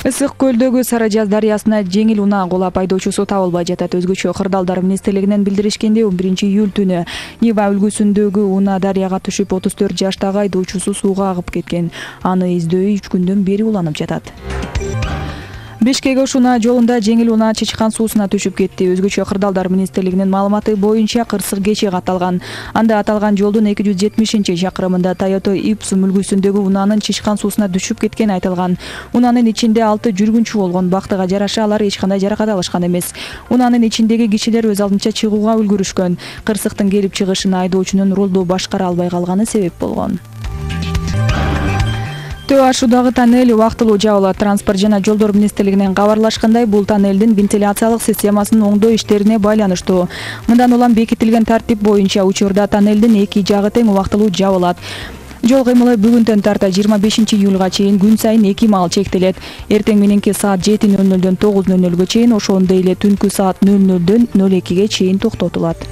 Ысык көлдөгү Сары Жаз дарыясына жеңил унаа кулап айдоочусу табылбай жатат. Өзгөчө кырдаалдар министрлигинен билдиришкенде 11-июль түнү Нива үлгүсүндөгү унаа дарыяга түшүп 34 жаштагы айдоочусу сууга агып кеткен. Аны издөө 3 күндөн бери уланып жатат. Бишкек-Ош унаа жолунда жеңил унаа Чычкан суусуна түшүп кетти. Өзгөчө кырдаалдар министрлигинин маалыматы боюнча кырсык кече катталган. Анда аталган жолдун 270-чакырымында Toyota Ipsum үлгүсүндөгү унаанын Чычкан суусуна түшүп кеткени айтылган. Унаанын ичинде 6 жүргүнчү болгон. Бактыга жараша алар эч кандай жаракат алышкан эмес. Унаанын ичиндеги кишилер өз алдынча чыгууга үлгүрүшкөн. Кырсыктын келип чыгышына айдоочунун рулду башкара албай калганы себеп болгон. Төө ашуудагы тоннель убактылуу жабылат. Транспорт жана жолдор министрлигинен кабарлашкандай, бул тоннелдин вентиляциялык системасынын оңдоо иштерине байланыштуу. Мындан улам бекитилген тартип боюнча учурда тоннелдин эки жагы тең убактылуу жабылат. Жол кыймылы бүгүндөн тарта 25-июлга чейин күн сайын 2 маал чектелет. Эртең мененки саат 7:00дөн 9:00га чейин, ошондой эле түнкү саат 00:00дөн 02:00ге чейин токтотулат.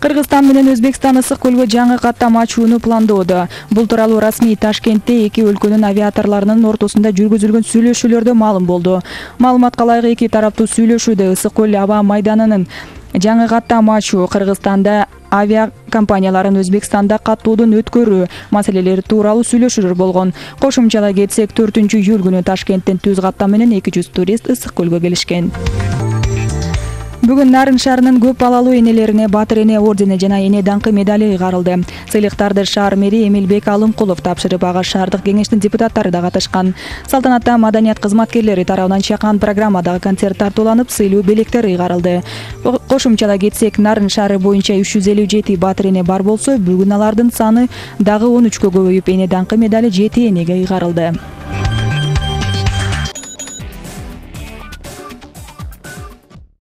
Кыргызстан менен Өзбекстан ысык көлгө жаңы каттам ачууну пландоодо. Бул тууралуу расмий Ташкентте эки өлкөнүн авиаторлорунун ортосунда жүргүзүлгөн сүйлөшүүлөрдө маалым болду. Маалыматка ылайык, эки тараптуу сүйлөшүүдө ысык көл аба майданынын жаңы каттам ачуу, Кыргызстанда авиакомпанияларын Өзбекстанда каттоодон өткөрүү маселелери тууралуу сүйлөшүүлөр болгон. Кошумчалай кетсек, 4-июль күнү Ташкенттен түз каттам менен 200 турист ысык көлгө келишкен. Бүгүн Нарын шаарынын көп балалуу энелерине Батыр эне ордени жана эне даңкы медали ыйгарылды. Сыйлыктарды шаар мэри Эмилбек Алымкулов тапшырып, ага шаардык кеңештин депутаттары да катышкан. Салтанатта маданият кызматкерлери тарабынан чакан программадагы концерт тартууланып, сыйлуу белектер ыйгарылды. Кошумчалай кетсек, Нарын шаары боюнча 357 Батыр эне бар болсо, бүгүн алардын саны дагы 13кө көбөйүп, эне даңкы медали 7 энеге ыйгарылды.